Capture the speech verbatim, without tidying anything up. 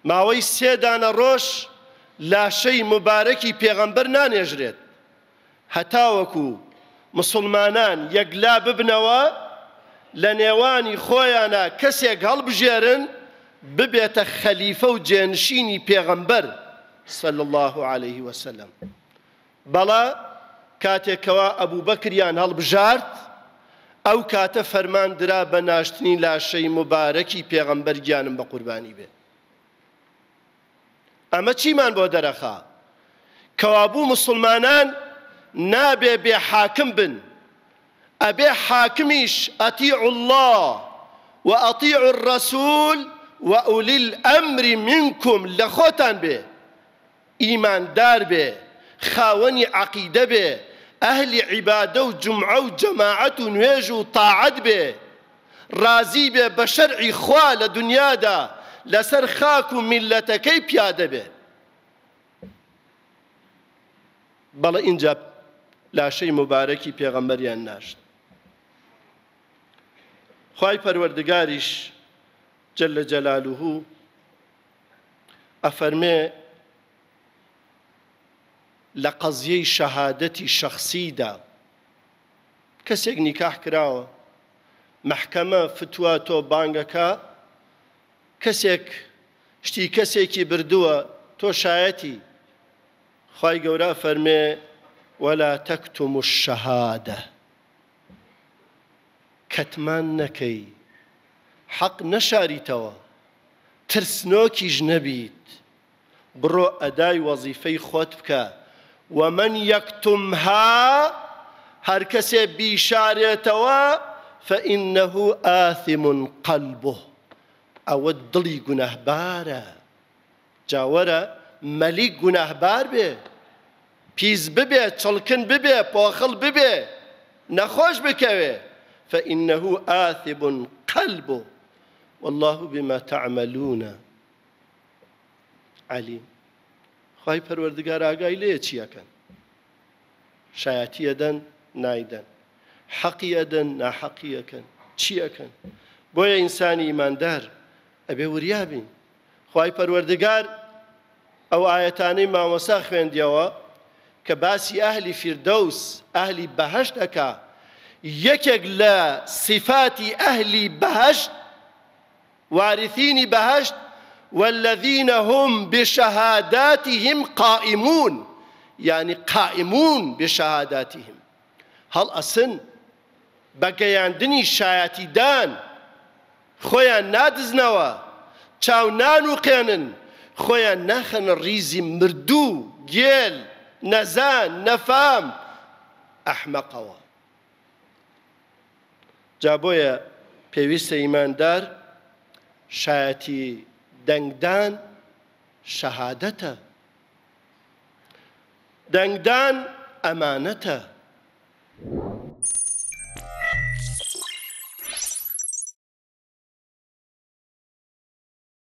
ماوەی سێ دانە ڕۆژ لاشەی موبارەکی پێغەمبەر نانێژرێت هەتاوەکو مسوڵمانان یەکلا ببنەوە لە نێوانی خۆیانا کەسێک هەڵبژێرن ببێتە خەلیفە و جێنشینی پێغەمبەر صلی اللە علیه وسلم. بەڵا کاتێک کەوا ئەبوبەکریان هەڵبژارد ئەو کاتە فەرمان درا بە ناشتنی لاشەی موبارەکی پێغەمبەر گیانم بە قوربانی بێ. ئەمە چیمان بۆ دەرەخا؟ کەوابوو مسوڵمانان نابێ بێ حاکم بن، ئەبێ حاکمیش اطیعوا اللە و اطیعوا الرسول و اولی الامر منکم لە خۆتان بێ، ئیماندار بێ، خاوەنی عەقیدە بێ، ئەهلی عیبادە و جومعە و جەماعەت و نوێژ و تاعەت بێ، ڕازی بێ بە شەرعی خوا لە دونیادا لەسەر خاک و میللەتەکەی پیادە بێ. بەڵێ ئینجا لاشەی موبارەکی پێغەمبەریان ناشت. خوای پەروەردگاریش جل جلاله ئەفەرمێ لە قەزیەی شەهادەتی شەخسیدا کەسێک نیکاح کراوە مەحکەمە فتوا تۆ بانگەکە کەسێک شتی کەسێکی بردووە تۆ شایەتی خوای گەورە ئەفەرمێ ولا تکتموا الشهادە کەتمان نەکەی حەق نەشاریتەوە ترسنۆکیش نەبیت بڕۆ ئەدای وەزیفەی خۆت بکە ومن یکتمها هەرکەسێ بیشارێتەوە فإنه آثم قلبه ئەوە دڵی گوناهبارە جا وەرە مەلیک گوناهبار بێ پیس ببێ چڵکن ببێ پۆخڵ ببێ نەخۆش بکەوێ فإنه آثم قلبه والله بما تعملون علیم خوای پەروەردگار ئاگای لێیە چی ئەکەن شایەتی ئەدەن نایدەن حەقی ئەدەن ناحەقی ئەکەن چی ئەکەن بۆیە ئینسانی ئیماندار ئەبێ وریا بین خوای پەروەردگار ئەو ئایەتانەی مامۆستا خوێندیەوە کە باسی ئەهلی فیردەوس ئەهلی بەهەشت ئەکا یەکێک لە سیفاتی ئەهلی بەهەشت وارثینی بەهەشت والذین هم بشهاداتهم قائمون یعنی قائمون بشهاداتهم هەڵئەسن بە گەیاندنی شایەتیدان خۆیان نادزنەوە، چاو نانوقێنن، خۆیان ناخەنە ڕیزی مردوو، گێل، نەزان، نەفام، ئەحمەقەوە. جا بۆیە پێویستە ئیماندار شایەتی دەنگدان شەهادەتە، دەنگدان ئەمانەتە.